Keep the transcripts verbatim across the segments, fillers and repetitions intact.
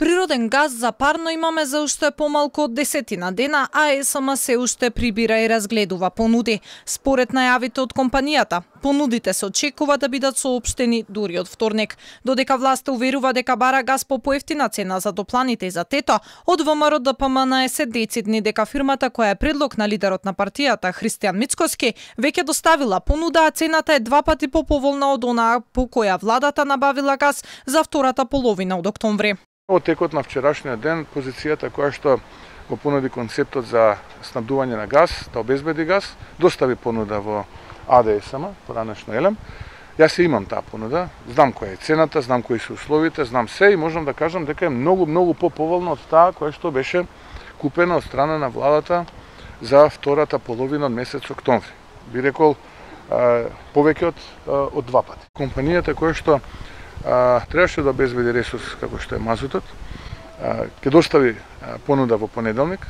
Природен газ за парно имаме за уште помалку од десетина дена, а ЕСМ се уште прибира и разгледува понуди. Според најавите од компанијата, понудите се очекува да бидат соопштени дури од вторник. Додека власта уверува дека бара газ по поевтина цена за топланите и за ТЕТО, од ВМРО Д П М Н се децидни дека фирмата која е предлог на лидерот на партијата Христијан Мицкоски веќе доставила понуда, а цената е два пати поповолна од онаа по која владата набавила газ за втората половина од октомври. Од текот на вчерашниот ден, позицијата која што го понуди концептот за снабдување на газ, да обезбеди газ, достави понуда во А Д С М, поранешно Елем. Јас се имам таа понуда, знам која е цената, знам кои се условите, знам се и можам да кажам дека е многу, многу поповолна од таа која што беше купена од страна на владата за втората половина од месец октомври. Би рекол, повеќе од, од два пати. Компанијата која што А, требаше да обезбеди ресурс како што е мазутот, ќе достави а, понуда во понеделник.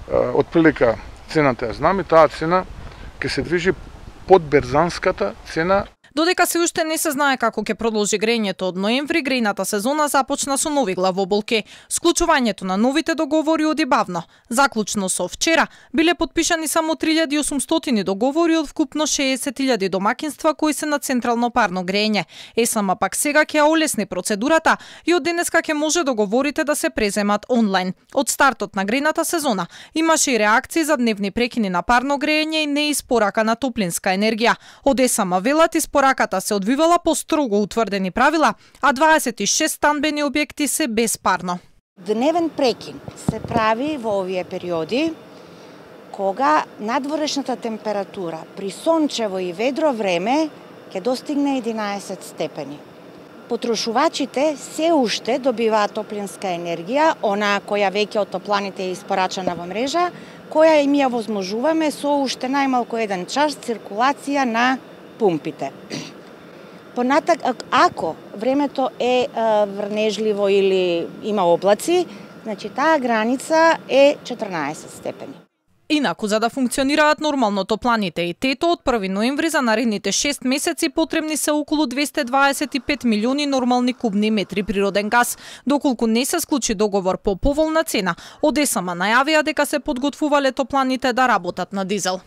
Од прилика цената ја знам и таа цена ќе се движи под берзанската цена. Додека се уште не се знае како ќе продолжи грејењето од ноември, грејната сезона започна со нови главоболки. Склучувањето на новите договори оди бавно. Заклучно со вчера биле потпишани само три илјади и осумстотини договори од вкупно шеесет илјади домакинства кои се на централно парно грејење. ЕСМ пак сега ќе олесни процедурата и од денеска ќе може договорите да се преземат онлайн. Од стартот на грејната сезона имаше и реакции за дневни прекини на парно грејење и неиспорака на топлинска енергија. Од ЕСМ велат Пораката се одвивала по строго утврдени правила, а дваесет и шест станбени објекти се без парно. Дневен прекин се прави во овие периоди кога надворешната температура при сончево и ведро време ќе достигне единаесет степени. Потрошувачите се уште добиваат топлинска енергија, онаа која веќе од топланите е испорачана во мрежа, која им ја возможуваме со уште најмалку еден час циркулација на пумпите. Понатак, ако времето е врнежливо или има облаци, значи таа граница е четрнаесет степени. Инаку, за да функционираат нормално топланите и ТЕТО, од први ноември за наредните шест месеци потребни се околу двесте дваесет и пет милиони нормални кубни метри природен газ. Доколку не се склучи договор по поволна цена, од ЕСМ најавија дека се подготвувале топланите да работат на дизел.